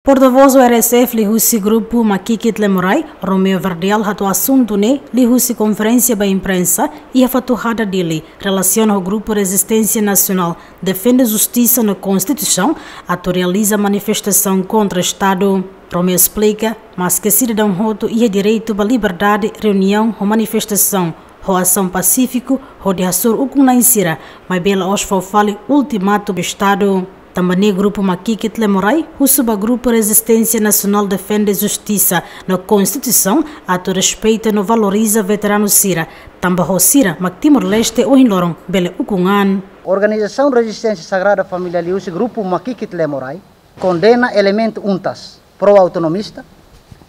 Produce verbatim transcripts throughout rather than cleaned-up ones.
Portavós O R S F liuhusi grupu Makikit Lemorai, Romeo Verdial, hato'o asuntu ne'e liuhusi konferénsia ba imprensa iha Fatuhada, Dili, relasiona ho grupu Rezisténsia Nasionál Defende Justisa no Konstituisaun atu realiza manifestasaun kontra Estadu. Romeo esplika, maske sidadaun hotu iha direitu ba liberdade reuniaun ho manifestasaun ho asaun pasífiku hodi hasoru ukun-na'in sira, maibé la'ós fó fali ultimatu ba Estadu. Tanba ne'e grupu Makikit Lemorai husu ba grupu Rezisténsia Nasionál Defende Justisa no Konstituisaun atu respeita no valoriza veteranu sira, tanba ho sira mak Timor-Leste ohin loron bele ukun an. Organizasaun Rezisténsia Sagrada Família liuhusi grupu Makikit Lemorai kondena elementu UNTAS, pró-autonomista,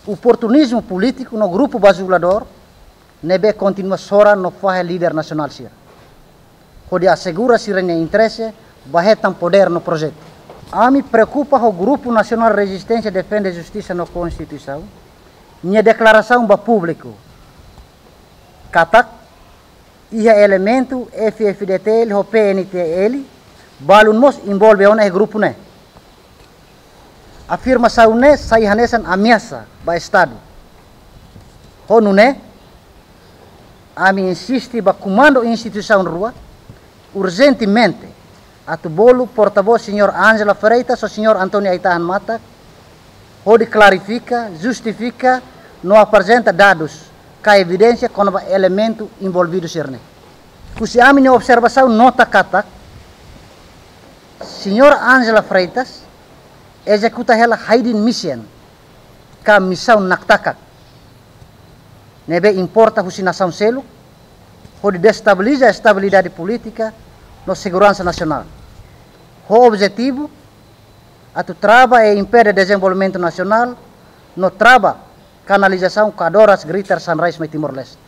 oportunizmu polítiku no grupu bazuladór ne'ebé kontinua sora no fahe líder nasionál sira hodi asegura sira-nia interese ba hetan podér no projetu. Ami preokupa ho Grupu Nasionál Rezisténsia Defende Justisa no Konstituisaun nia deklarasaun ba públiku katak iha elementu F-FDTL ho P N T L balun mós envolve ona iha grupu ne'e. Afirmasaun ne'e sai hanesan ameasa ba Estadu. Ho nune'e, ami insiste ba komandu instituisaun rua urjentemente atu bolu portavós señór Ângela Freitas ho señór António Aitahan Mata hodi klarifika, justifika no aprezenta dadus ka evidénsia kona-ba elementu envolvidu sira-ne'e. Husi ami-nia observasaun nota katak señór Ângela Freitas ezekuta hela hidden mission ka misaun naktakak ne'ebé importa husi nasaun seluk hodi destabiliza estabilidade polítika no seguransa nasionál, ho objetivu atu trava e impede dezenvolvimentu nasionál no trava kanalizasaun Kadoras Greater Sunrise mai Timor-Leste.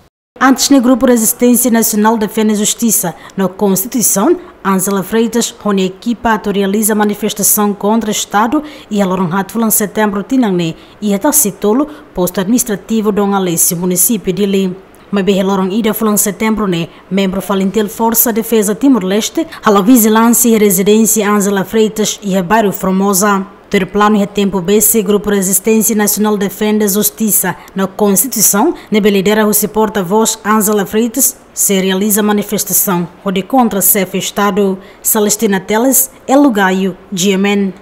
Antes ne'e, Grupu Rezisténsia Nasionál Defende Justisa no Konstituisaun, Ângela Freitas ho nia ekipa atu realiza manifestasaun kontra Estadu iha loron haat fulan Setembru tinan ne'e iha Tasitolu, postu administrativu Dom Aleixo, munisípiu Dili. Maibé iha loron ida fulan Setembru ne'e, membru FALINTIL, Forsa Defeza Timor-Leste, halo vijilánsia iha rezidénsia Ângela Freitas iha bairru Formosa. Tuir planu, iha tempu besik, Grupu Rezisténsia Nasionál Defende Justisa no Konstituisaun, ne'ebé lidera husi portavós Ângela Freitas, sei realiza manifestasaun hodi kontra xefe Estadu. Celestina Teles, Elo Gayo, G M N.